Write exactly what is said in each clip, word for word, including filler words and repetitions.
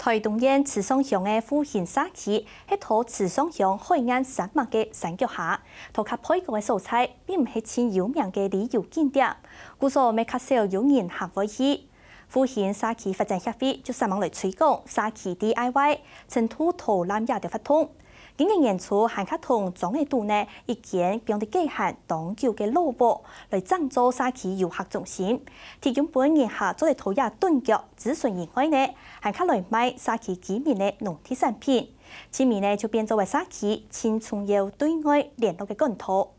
臺東縣池上鄉个復興社區係在池上鄉海岸山脈个山腳下，在較背角个所在，並毋係盡有名个旅遊景點，故所乜較少有人客會去。復興社區發展協會就煞猛來推廣社區D I Y、程度導覽這兜活動。今年年初還較同庄仔肚內一間放在該下當久个老屋，來整做社區遊客中心，提供分人客做得在這頓腳 諮詢以外呢，還較來賣社區居民个農特產品，盡尾呢就變做為社區盡重要對外聯絡个管道。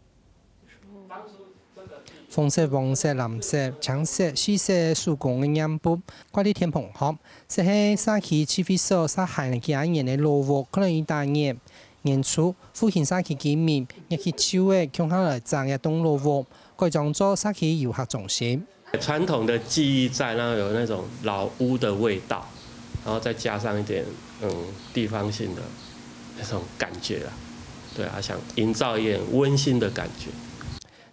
紅色、黃色、藍色、青色四色个手工个黏布，掛在天棚項，就係社區聚會所續行幾下年个老屋，看來已打眼。年初，復興社區居民熱氣湊熱，共下來整這棟老屋，改裝做社區遊客中心。 傳統的記憶在，然後有那種老屋的味道，然後再加上一點，嗯，地方性的那種感覺啦。對啊，想營造一點溫馨的感覺。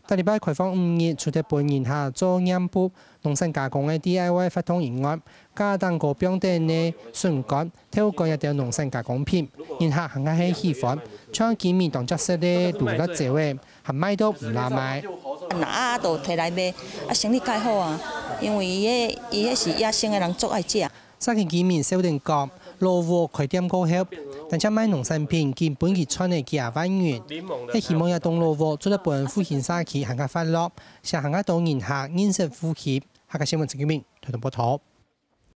逐禮拜開放五日，除忒分人客做黏布、農產加工个D I Y活動以外，架頂高放等个筍乾、豆乾這兜農產加工品，人客還較係喜歡，像居民當接受个滷辣椒仔， 還賣到毋罅賣。拿啊，都提來賣，啊，生理蓋好啊，因為伊迄，伊迄是野生个，人足愛食。社區居民笑等講，老屋開店過後，單淨賣農產品，緊分佢賺了幾下萬銀。係希望這棟老屋做得分復興社區還較活絡，請還較多人客認識復興。客家新聞陳金明，臺東報導。